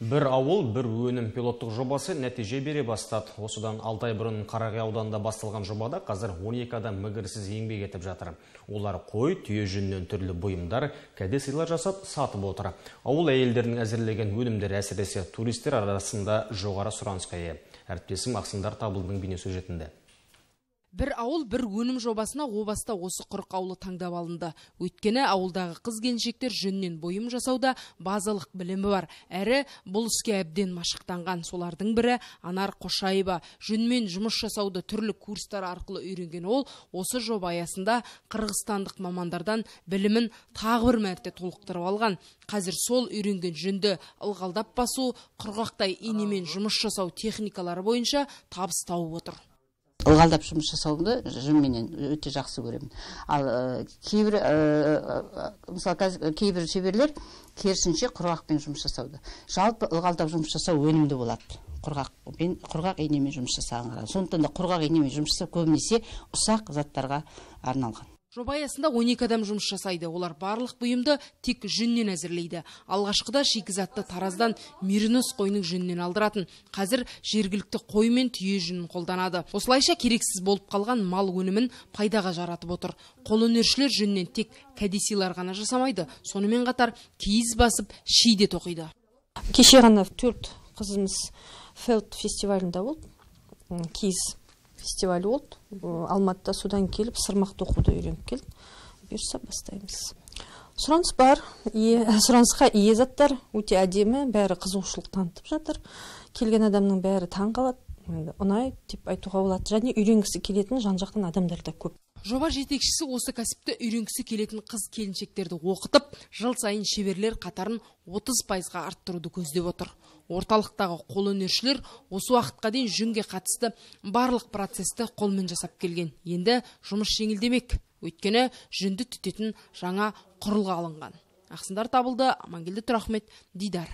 Бір ауыл, бір өнім пилоттық жобасы нәтиже бере бастады. Осыдан 6 ай бұрын Қарағай ауданында басталған жобада қазір 12 адам мүгірсіз еңбек етіп жатыр. Олар қой, түйе жүнінен түрлі бұйымдар, кәде-сыйлар жасап сатып отыр. Ауыл әйелдерінің әзірлеген өнімдер әсіресе туристер арасында жоғары сұранысқа ие. Әріптесім Ақсындар Табылдың бейнесюжетінде. Бір ауыл, бір өнім жобасына о баста осы 40 ауылы таңдап алынды. Өйткені ауылдағы қыз-келіншектер жүннен бұйым жасауда базалық білімі бар. Әрі бұл іске әбден машықтанған. Солардың бірі Анар Қошаева. Жүнмен жұмыс жасауды түрлі курстар арқылы үйренген ол, осы жоба аясында қырғызстандық мамандардан білімін тағы бір мәрте толықтырып алған. Қазір сол үйренген жүнді ылғалдап басу, құрғақтай инемен жұмыс жасау техникалары бойынша табыс тауып отыр. Ылғалдап жұмыс жасауды жүнменен өте жақсы көремін. Ал кейбір шеберлер керісінше құрғақпен жұмыс жасауды. Жалпы ылғалдап жұмыс жасау өнімді болады. Құрғақ инемен жұмыс жасаған. Сондықтан да құрғақ инемен жұмыс жасау көбінесе ұсақ заттарға арналған. Жоба аясында 12 адам жұмыс жасайды. Олар барлық бұйымды тек жүннен әзірлейді. Алғашқыда шикізатты Тараздан меринос қойының жүнінен алдыратын. Қазір жергілікті қой мен түйе жүнін қолданады. Осылайша керексіз болып қалған мал өнімін пайдаға жаратып отыр. Қолөнершілер жүннен тек кәде-сыйлар ғана жасамайды. Сонымен қатар киіз басып, шиде тоқиды. Кеше ғана 4 қызымыз Фелд фестивалінде болды. Киіз фестивалі болды. Алматыда содан келіп сырмақ тоқуды үйреніп келді. Бұйырса бастаймыз. Сұраныс бар. Сұранысқа ие заттар өте әдемі, бәрі қызығушылық танытып жатыр. Келген адамның бәрі таң қалады. Ұнайды деп айтуға болады. Және үйренгісі келетін жан-жақтан адамдар да көп. Жоба жетекшісі осы кәсіпті үйренгісі келетін қыз-келіншектерді оқытып, жыл сайын шеберлер қатарын 30%-ға арттыруды көздеп отыр. Орталықтағы қолөнершілер осы уақытқа дейін жүнге қатысты барлық процесті қолмен жасап келген. Енді жұмыс жеңілдемек. Өйткені жүнді түтетін жаңа құрылғы алынған. Ақсындар Табылды, Амангелді Тұрахмет, Дидар.